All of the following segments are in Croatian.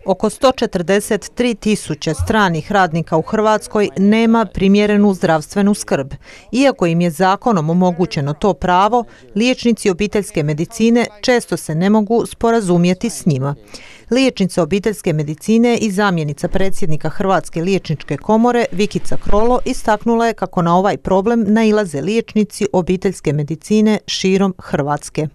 Oko 143.000 stranih radnika u Hrvatskoj nema primjerenu zdravstvenu skrb. Iako im je zakonom omogućeno to pravo, liječnici obiteljske medicine često se ne mogu sporazumjeti s njima. Liječnica obiteljske medicine i zamjenica predsjednika Hrvatske liječničke komore Vikica Krolo istaknula je kako na ovaj problem nailaze liječnici obiteljske medicine širom Hrvatske.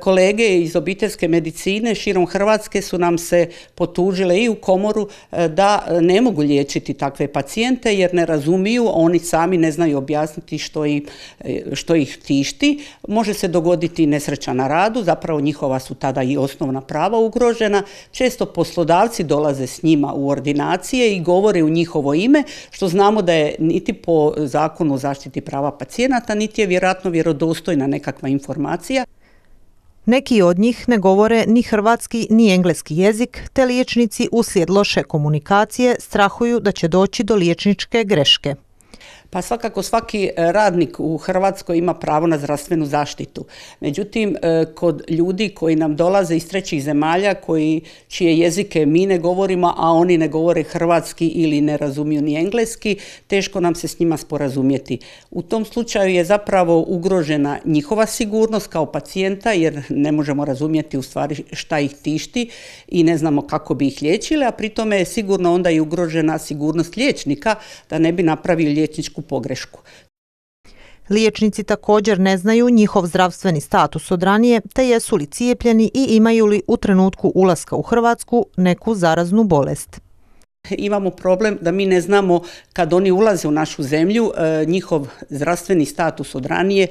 Kolege iz obiteljske medicine širom Hrvatske su nam se potužile i u komoru da ne mogu liječiti takve pacijente jer ne razumiju, oni sami ne znaju objasniti što ih tišti. Može se dogoditi nesreća na radu, zapravo njihova su tada i osnovna prava ugrožena. Često poslodavci dolaze s njima u ordinacije i govore u njihovo ime, što znamo da je niti po zakonu o zaštiti prava pacijenata, niti je vjerojatno vjerodostojna nekakva informacija. Neki od njih ne govore ni hrvatski ni engleski jezik, te liječnici uslijed loše komunikacije strahuju da će doći do liječničke greške. Pa svakako svaki radnik u Hrvatskoj ima pravo na zdravstvenu zaštitu. Međutim, kod ljudi koji nam dolaze iz trećih zemalja, čije jezike mi ne govorimo, a oni ne govore hrvatski ili ne razumiju ni engleski, teško nam se s njima sporazumjeti. U tom slučaju je zapravo ugrožena njihova sigurnost kao pacijenta, jer ne možemo razumjeti u stvari šta ih tišti i ne znamo kako bi ih liječili, a pri tome je sigurno onda i ugrožena sigurnost liječnika da ne bi napravili liječničku pogrešku. Liječnici također ne znaju njihov zdravstveni status od ranije, te jesu li cijepljeni i imaju li u trenutku ulaska u Hrvatsku neku zaraznu bolest. Imamo problem da mi ne znamo kad oni ulaze u našu zemlju njihov zdravstveni status od ranije,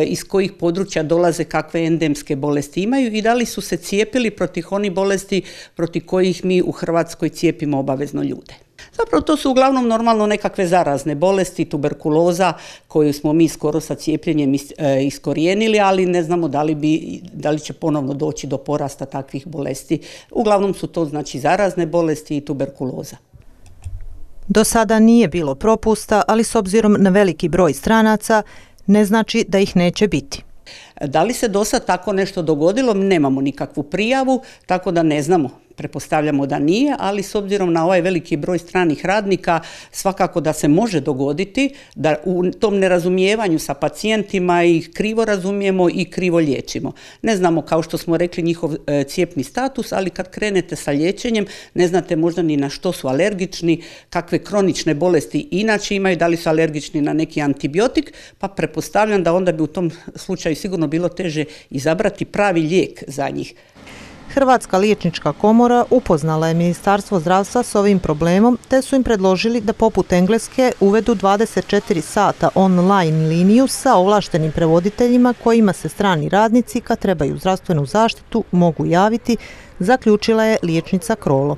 iz kojih područja dolaze, kakve endemske bolesti imaju i da li su se cijepili protiv onih bolesti protiv kojih mi u Hrvatskoj cijepimo obavezno ljude. Zapravo to su uglavnom normalno nekakve zarazne bolesti, tuberkuloza koju smo mi skoro sa cijepljenjem iskorijenili, ali ne znamo da li će ponovno doći do porasta takvih bolesti. Uglavnom su to znači zarazne bolesti i tuberkuloza. Do sada nije bilo propusta, ali s obzirom na veliki broj stranaca ne znači da ih neće biti. Da li se do sad tako nešto dogodilo? Nemamo nikakvu prijavu, tako da ne znamo. Pretpostavljamo da nije, ali s obzirom na ovaj veliki broj stranih radnika svakako da se može dogoditi da u tom nerazumijevanju sa pacijentima ih krivo razumijemo i krivo liječimo. Ne znamo, kao što smo rekli, njihov cijepni status, ali kad krenete sa liječenjem ne znate možda ni na što su alergični, kakve kronične bolesti inače imaju, da li su alergični na neki antibiotik, pa pretpostavljam da onda bi u tom slučaju sigurno bilo teže izabrati pravi lijek za njih. Hrvatska liječnička komora upoznala je Ministarstvo zdravstva s ovim problemom, te su im predložili da poput Engleske uvedu 24 sata online liniju sa ovlaštenim prevoditeljima kojima se strani radnici kad trebaju zdravstvenu zaštitu mogu javiti, zaključila je liječnica Krolo.